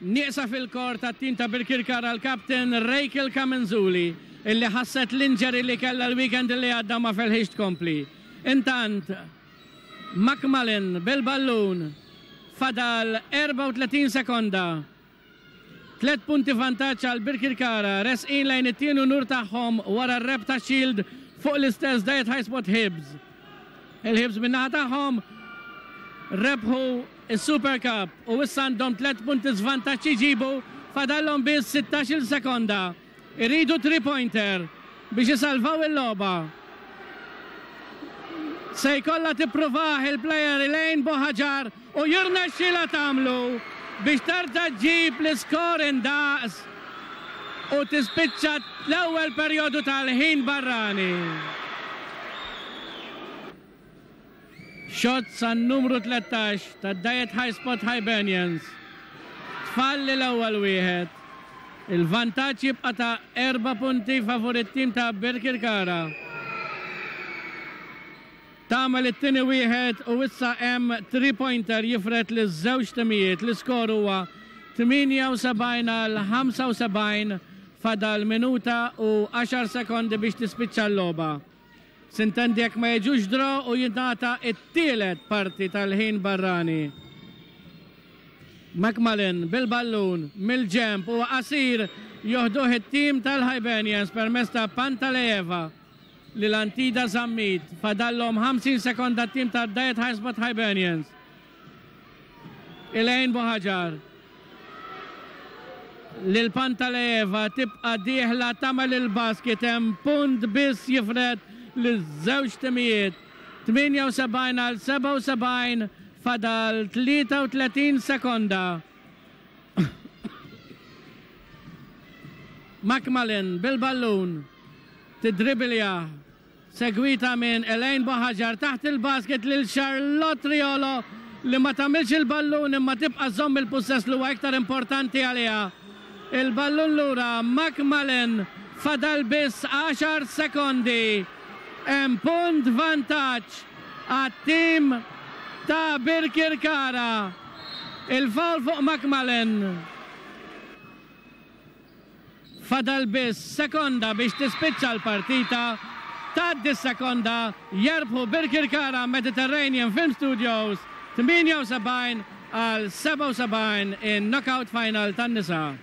Nieqsa fil-kor tat-tim ta' Birkirkara l-captain Rachel Camenzuli illi ħasset l-injury li kellha l-weekend li għadda ma felħitx tkompli. Intant, McMullen bil-ballun fadal 34 sekonda. 3 punti vantaġġ għal Birkirkara resqin lejn it-tieni unur tagħhom wara r-rebħ ta' Shield fuq l-istess Diet High Spot Hibs. Il-Hibs min-naħa tagħhom rebħu s-Super Cup u issa għandhom 3 punti żvantaġġ iġibu fadallhom biss 16-il sekonda. Iridu 3 pointer biex isalvaw il-logħba. Se jkollha tippruvah il-player Elaine Bohaġar u jirnexxilha tagħmlu biex terġa' ġġib l-iskor indaqs u tispiċċa l-ewwel perjodu tal-ħin barrani. Shots għan-numru 13 ta' Diet High Spot Hibernians. Tfalli l-ewwel wieħed. Il-vantaġġ jibqa' ta' 4 punti favur it-tim ta' Birkirkara. Tagħmel it-tieni wieħed u issa hemm 3 pointer jifred liż-żewġ timijiet. L-iskor huwa 78 għal 75 fadal minuta u 10 sekondi biex tispiċċa l-logħba. Sintendi jekk ma jiġux draw u jingħata t-tielet parti tal-ħin barrani. McMullen bil-ballun mill-ġenb huwa qasir joħduh it-tim tal-Hibernians permezz ta' Pantalejeva lil Antida Zammit. Fadallhom 50 sekonda t-tim ta' Diet High Spot Hibernians. Elaine Buhaġar lil Pantalejeva tibqa' dieħla tagħmel il-basket hemm punt biss jifred liż-żewġ timijiet. 78 għal 77 fadal 33 sekonda. McMullen bil-ballun tidribilja segwita minn Elaine Bohaġar taħt il-basket lil Charlotte Riolo li ma tagħmilx il-ballun imma tibqa' żomm il-pussess li huwa iktar importanti għaliha. Il-ballun lura McMullen fadal biss 10 sekondi. Hemm punt vantaġġ għat-tim ta' Birkirkara. Il-foul fuq McMullen. Fadal biss sekonda biex tispiċċa l-partita. Tgħaddi s-sekonda, jerbħu Birkirkara Mediterranean Film Studios 78 għal 77 in knockout final tan-nisa.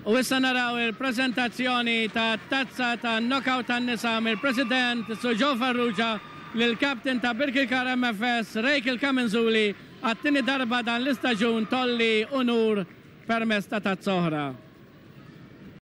U issa naraw il-preżentazzjoni ta' tazza ta' knockout tan-nisa mill-President Sir Joe Farrugia lill-Captain ta' Birkirkara MFS Rachel Camenzuli għat-tieni darba dan l-istaġun tgħolli unur permezz ta' tazza oħra.